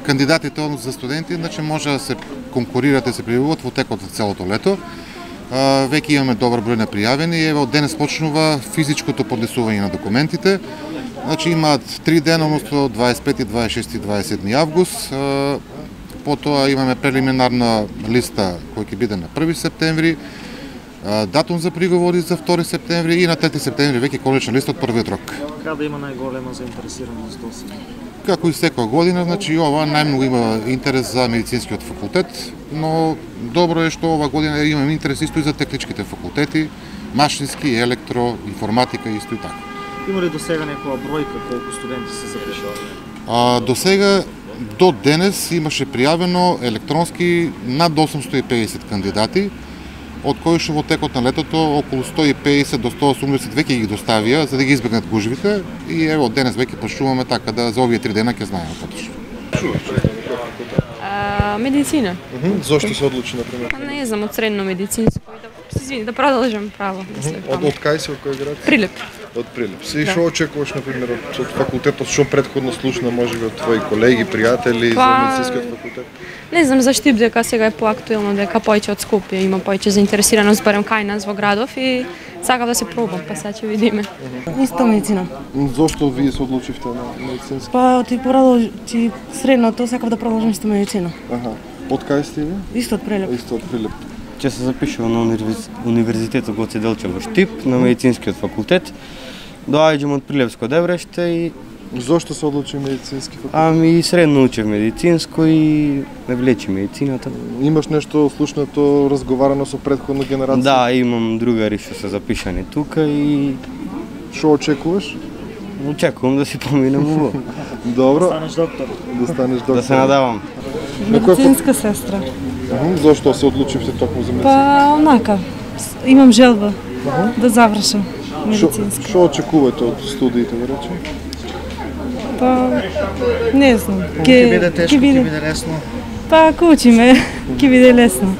кандидатите за студенти, значи може да се конкурирате, да се пријавуваат во текот од целото лето. Веќе имаме добар број на пријавени и еве од денес почнува физичкото поднесување на документите. Значи имаат 3 дена, односно 25, 26 и 27 август. Потоа имаме прелиминарна листа која ќе биде на 1 септември, датум за приговори за 2 септември и на 3 септември веќе конечна листа од првиот рок. Каде има најголема заинтересираност досега? Како и секоја година, значи ова најмногу има интерес за медицинскиот факултет, но добро е што ова година имаме интерес исто и за техничките факултети, машински, електро, информатика исто и така. Има ли досега некоја бројка колку студенти се запишувале? Досега до денес имаше пријавено електронски над 850 кандидати, од кои што во текот на летото околу 150 до 180 веќе ги доставија за да ги избегнат гужвите и ево од денес веќе почнуваме така да за овие 3 дена ќе знаеме поточно. Медицина. Зошто се одлучи на пример? Не знам, од средно медицинско и да продолжам право. Од кај си, од кој град? Прилеп. Од Прилеп. Си што очекуваш на пример од факултетот, што претходно слушна можеби од твои колеги, пријатели за медицинскиот факултет? Не знам за Штип дека сега е поактуелно, дека повеќе од Скопје има повеќе заинтересираност барем кај нас во градов и сакав да се пробам, па сега ќе видиме. Исто медицина. Зошто вие се одлучивте на медицински? Па ти средното сакав да продолжам исто медицина. Од кај сте ви? Исто од Прилеп. Исто од Прилеп. Ќе се запишувам на Универзитетот Гоце Делчев во Штип, на медицинскиот факултет. Доаѓам од Прилепско Дебреште и Зошто се одлучи медицински факултет? Средно учев медицинско и ме влече медицината. Имаш нешто слушнато, разговарано со претходна генерација? Да, имам другари што се запишани тука и Што очекуваш? очекувам да си поминам убаво. Добро. Станеш доктор. Да станеш доктор. Да се надавам. Медицинска сестра. Зошто се одлучивте токму за медицина? Па онака, имам желба да завршам медицинска. Што очекувате од студиите, да речем? Па не знам. Ќе биде тешко, ќе биде лесно. Па ако учиме, ќе биде лесно.